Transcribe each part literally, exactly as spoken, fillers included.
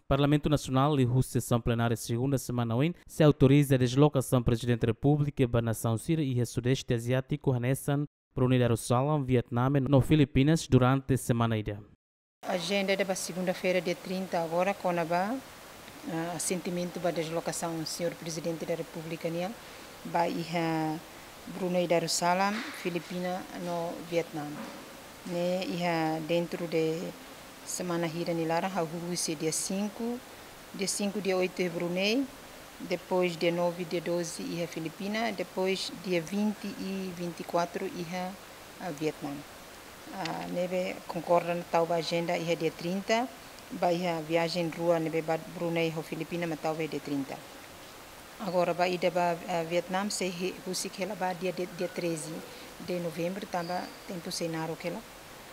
Parlamentu Nasionál liuhusi sesaun plenária segunda semana oin sei autoriza dezlokasaun Prezidente Repúblika ba nasaun sira iha Sudeste Aziátiku hanesan Brunei Darussalam, Vietname no Filipinas durante semana ida. Ajenda ida ba segunda-feira, dia trinta agora, kona-ba, ah, asentimentu ba dezlokasaun Señór Prezidente da Repúblika nian ba iha Brunei Darussalam, Filipina no Vietname. Ne'e iha dentro de semana hira nia laran, hahú husi dia cinco, dia cinco, dia oito iha Brunei, depois dia nove, dia doze iha Filipina, depois dia vinte e vinte e quatro iha, ah, Vietname. Ah, ne'ebé konkorda tau ba ajenda iha dia trinta, ba iha viajen rua ne'ebé ba Brunei ho Filipina mak tau ba dia trinta. Agora ba ida ba, ah, Vietname sei hi-, husik hela ba dia, dia, dia treze de novembro, tanba tempu sei naruk hela.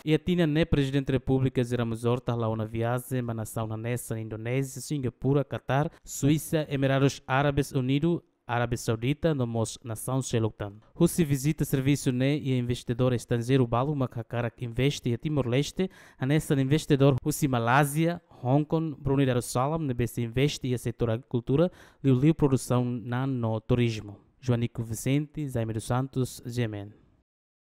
Iha tinan ne'e Prezidente Repúblika José Ramos Horta hala'o ona viajen ba nasaun hanesan Indonézia, Singapura, Catar, Suísa, Emirados Árabes Unidos, Arábia Saudita no mós nasaun seluk tan. Husi vizita servisu ne'e iha investidór estranjeiru balu mak hakarak investe iha Timor-Leste, hanesan investidór husi Malázia, Hong Kong, Brunei Darussalam ne'ebé sei investe iha setór agrikultura, liuliu produsaun na'an no turizmu. Joanico Vicente, Jaime dos Santos, G M N.